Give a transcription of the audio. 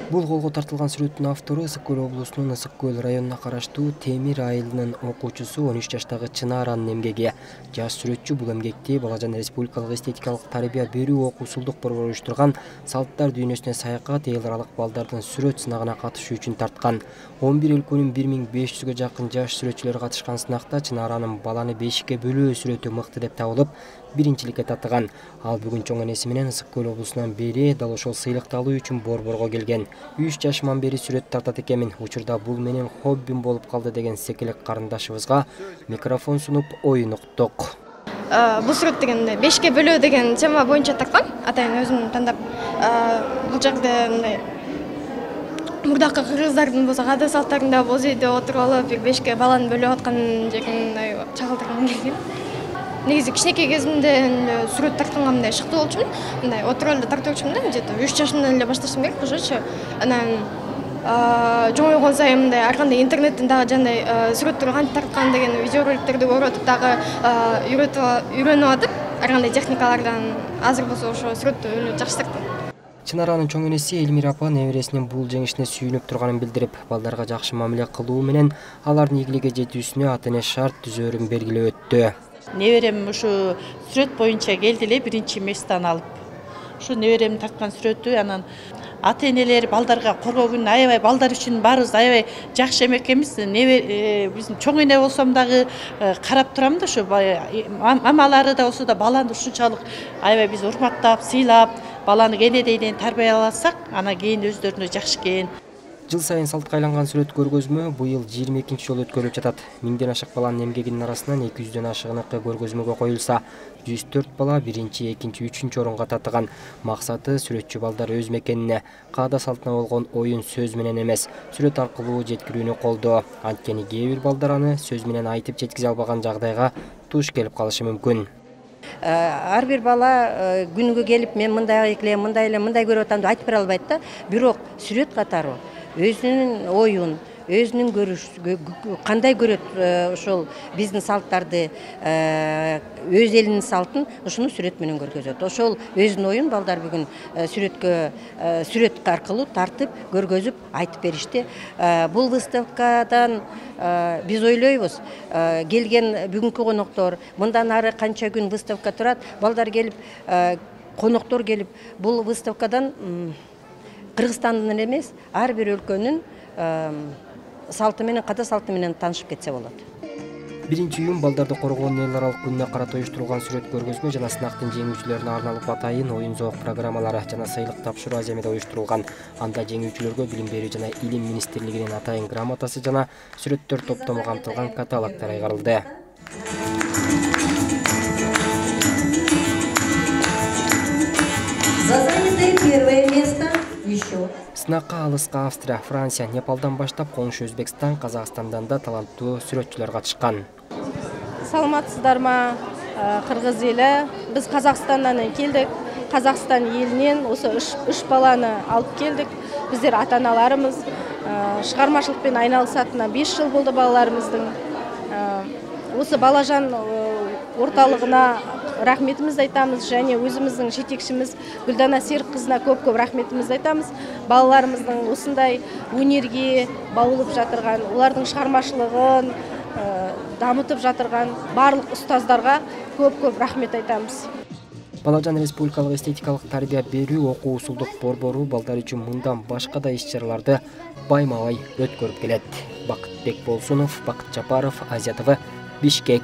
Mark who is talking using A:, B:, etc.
A: Бул колго тартылган сүрөттүн автору Ысык Көл облусунун Ысык Көл районуна караштуу Темир айылынын окуучусу 13 жаштагы Чынааранын эмгеги. Жаш сүрөтчү бул эмгекти Балажан республикалык эстетикалык тарбия берүү окуусулдук борбору уюштурган салттар дүйнөсүнө саякат эл аралык балдардын сүрөт сынагына катышуу үчүн тарткан. 11 өлкөнүн 1500гө жакын жаш сүрөтчүлөр катышкан сынакта Чынааранын баланы бешикке бөлөө сүрөтү мыкты деп табылып, биринчиликке татыган. Ал бүгүн чоң энеси менен Ысык Көл облусунан бери дал ошол сыйлыкты алуу үчүн борборго келген. 3 жашыман бери сүрөт тартат экенмин. Учурда бул менин хоббим болуп калды деген секелек карындашыбызга микрофон сунуп оюн уктук.
B: Бул сүрөт дегенде бешикке бөлөө деген тема боюнча тарткан. Атайын өзүм тандап бул жерде мындай мурдакы кыргыздардын болсо каада салттарында боз үйдө отуруп алып бир бешикке баланы бөлүп аткан жерин мындай чагылдыргым келген. Негизи кичинекей кезимде сүрөт тартканга мындай шыктуу болчумун. Мындай отуруп эле тартып жүрчүмүн да, где-то 3 жашымдан эле башташым керек ошочу. Анан чоңойгон сайын мындай ар кандай интернеттен дагы жандай сүрөттөрдү кантип тарткан деген видеороликтерди көрүп атып дагы үйрөнүп атып, ар кандай техникалардан азыр болсо ошо сүрөттү жакшы тарттым.
A: Чынааранын чоң энеси Элмира апа небересинин бул жеңишине сүйүнүп турганын билдирип, балдарга жакшы мамиле кылуу менен алардын ийгиликке жетүүсүнө ата эне шарт түзөөрүн белгилеп өттү.
C: Неберем ушу сүрөт боюнча келди эле биринчи месттен алып. Ушу неберем тарткан сүрөтү анан ата энелер балдарга коргоо күнү аябай балдар үчүн баарыбыз аябай жакшы эмек эмес. Биздин чоң эне болсом дагы карап турам да, ушу мамалары да болсо да баланы ушунчалык аябай биз урматтап, сыйлап, баланы кенедейден тарбияласак, анан кийин өздөрүнө жакшы экен.
A: Жыл сайын салтка айланган сүрөт көргөзмө быйыл 22-нчи жолу өткөрүлүп жатат. 1000ден ашык баланын эмгегинин арасынан 200дөн ашыгыныкы көргөзмөгө коюлса, 104 бала 1-чи, 2-чи, 3-чү орунга татыган. Максаты сүрөтчү балдар өз мекенине, каада салтына болгон оюн сөз менен эмес, сүрөт аркылуу жеткирүүнү колдоо. Анткени кээ бир балдар аны сөз менен айтып жеткизе албаган жагдайга туш келип калышы мүмкүн.
D: Ар бир бала күнүгө келип мен мындай көрүп атам деп айтып бере албайт да. Бирок сүрөт катары өзүнүн оюн, өзүнүн кандай көрөт ошол биздин салттарды, өз элинин салтын ушуну сүрөт менен көргөзөт. Ошол өзүнүн оюн балдар бүгүн сүрөт аркылуу тартып, көргөзүп, айтып беришти. Бул выставкадан биз ойлойбуз, келген бүгүнкү коноктор, мындан ары канча күн выставка турат, балдар келип, коноктор келип, бул выставкадан Кыргызстандын эмес, ар бир өлкөнүн салты менен, каада салты менен таанышып кетсе болот.
A: 1-июнь балдарды коргоонун эл аралык күнүнө карата уюштурулган сүрөт көргөзмө жана сынактын жеңүүчүлөрүнө арналып атайын оюн-зоок программалары жана сыйлык тапшыруу аземеде уюштурулган. Анда жеңүүчүлөргө билим берүү жана илим министрлигинин атайын грамотасы жана сүрөттөр топтому камтылган каталогдор айгарылды.
D: Первое место.
A: Сынакка алыска Австрия, Франция, Непалдан баштап коңшу Өзбекстан, Казакстандан да таланттуу сүрөтчүлөр катышкан.
E: Саламатсыздарма, кыргыз эли. Биз Казакстандан келдик. Казакстан элинен осы 3 баланы алып келдик. Биздер ата-аналарыбыз чыгармачылык менен айналысатына 5 жыл болду балаларыбыздын. Осы Балажан орталыгына рахметимизди айтамыз, және өзүмүздүн жетекчимиз Гүлдана Серик кызына көп-көп рахметимизди айтамыз. Балаларыбыздын осындай өнерге баулуп жатырган, улардын чыгармачылыгын дамытып жатырган барлык устаздарга көп-көп рахмет айтамыз.
A: Балажан республикалык эстетикалык тарбия берүү окуусулдук борбору балдар үчүн мындан башка да иш-чараларды байма-бай өткөрүп келет. Бакытбек Болсунов, Бакыт Жапаров, Азия ТВ, Бишкек.